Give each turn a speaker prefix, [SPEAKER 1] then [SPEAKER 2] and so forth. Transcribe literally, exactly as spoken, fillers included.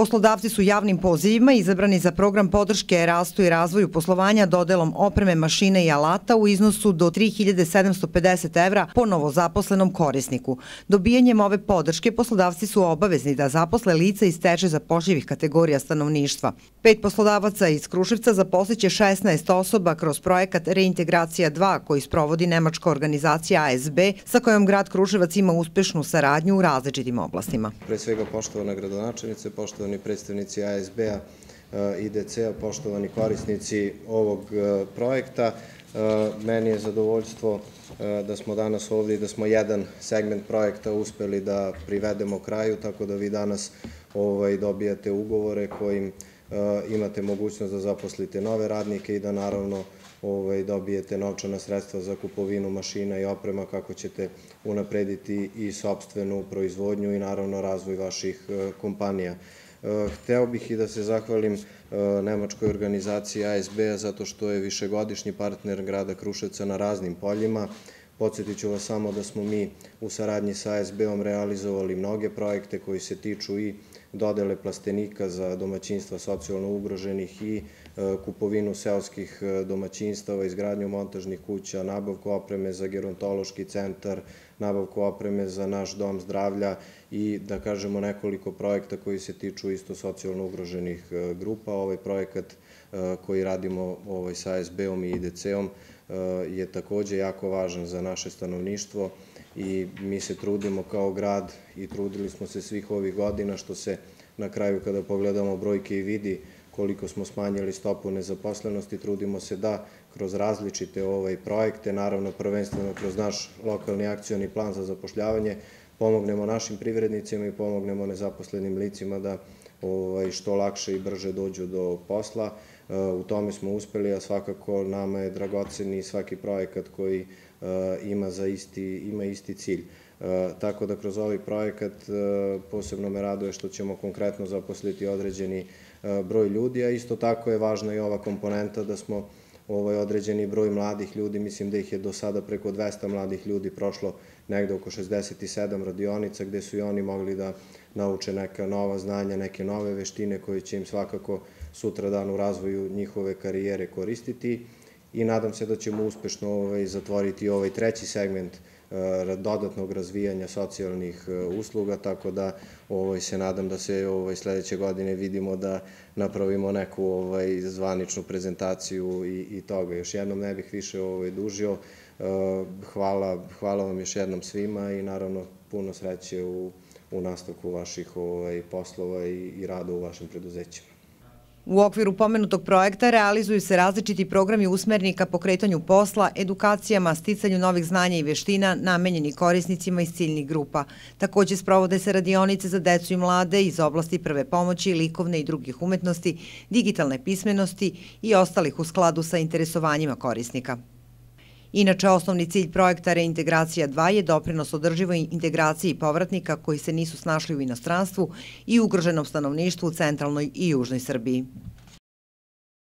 [SPEAKER 1] Poslodavci su javnim pozivima izabrani za program podrške rastu i razvoju poslovanja dodelom opreme, mašine i alata u iznosu do tri hiljade sedamsto pedeset evra po novozaposlenom korisniku. Dobijanjem ove podrške poslodavci su obavezni da zaposle lica iz teže zapošljivih kategorija stanovništva. Pet poslodavaca iz Kruševca zaposliće šesnaest osoba kroz projekat Reintegracija dva koji sprovodi nemačka organizacija A S B sa kojom grad Kruševac ima uspešnu saradnju u različitim oblastima.
[SPEAKER 2] Pre svega poštovana gradonačelnice, poštovani predstavnici A S B-a i D C-a, poštovani korisnici ovog projekta. Meni je zadovoljstvo da smo danas ovdje i da smo jedan segment projekta uspeli da privedemo kraju, tako da vi danas dobijate ugovore kojim imate mogućnost da zaposlite nove radnike i da naravno dobijete novčana sredstva za kupovinu mašina i oprema kako ćete unaprediti i sopstvenu proizvodnju i naravno razvoj vaših kompanija. Hteo bih i da se zahvalim nemačkoj organizaciji A S B-a zato što je višegodišnji partner grada Kruševca na raznim poljima. Podsjetit ću vas samo da smo mi u saradnji sa A S B-om realizovali mnoge projekte koji se tiču i dodele plastenika za domaćinstva socijalno ugroženih i kupovinu seoskih domaćinstava, izgradnju montažnih kuća, nabavku opreme za gerontološki centar, nabavku opreme za naš dom zdravlja i da kažemo nekoliko projekta koji se tiču isto socijalno ugroženih grupa. Ovaj projekat koji radimo sa A S B-om i I D C-om je takođe jako važan za naše stanovništvo i mi se trudimo kao grad i trudili smo se svih ovih godina što se na kraju kada pogledamo brojke i vidi koliko smo smanjili stopu nezaposlenosti, trudimo se da kroz različite projekte, naravno prvenstveno kroz naš lokalni akcioni plan za zapošljavanje, pomognemo našim privrednicima i pomognemo nezaposlenim licima da što lakše i brže dođu do posla. U tome smo uspeli, a svakako nama je dragocen i svaki projekat koji ima isti cilj. Tako da kroz ovaj projekat posebno me raduje što ćemo konkretno zaposliti određeni broj ljudi, a isto tako je važna i ova komponenta da smo određeni broj mladih ljudi, mislim da ih je do sada preko dvesta mladih ljudi prošlo negde oko šezdeset sedam radionica gde su i oni mogli da nauče neka nova znanja, neke nove veštine koje će im svakako sutradan u razvoju njihove karijere koristiti i nadam se da ćemo uspešno zatvoriti ovaj treći segment dodatnog razvijanja socijalnih usluga, tako da se nadam da se sledeće godine vidimo da napravimo neku zvaničnu prezentaciju i toga. Još jednom ne bih više dužio. Hvala vam još jednom svima i naravno puno sreće u nastavku vaših poslova i rada u vašim preduzećima.
[SPEAKER 1] U okviru pomenutog projekta realizuju se različiti programi usmereni ka pokretanju posla, edukacijama, sticanju novih znanja i veština namenjeni korisnicima iz ciljnih grupa. Takođe sprovode se radionice za decu i mlade iz oblasti prve pomoći, likovne i drugih umetnosti, digitalne pismenosti i ostalih u skladu sa interesovanjima korisnika. Inače, osnovni cilj projekta Reintegracija dva je doprinos održivoj integraciji povratnika koji se nisu snašli u inostranstvu i ugroženom stanovništvu u centralnoj i južnoj Srbiji.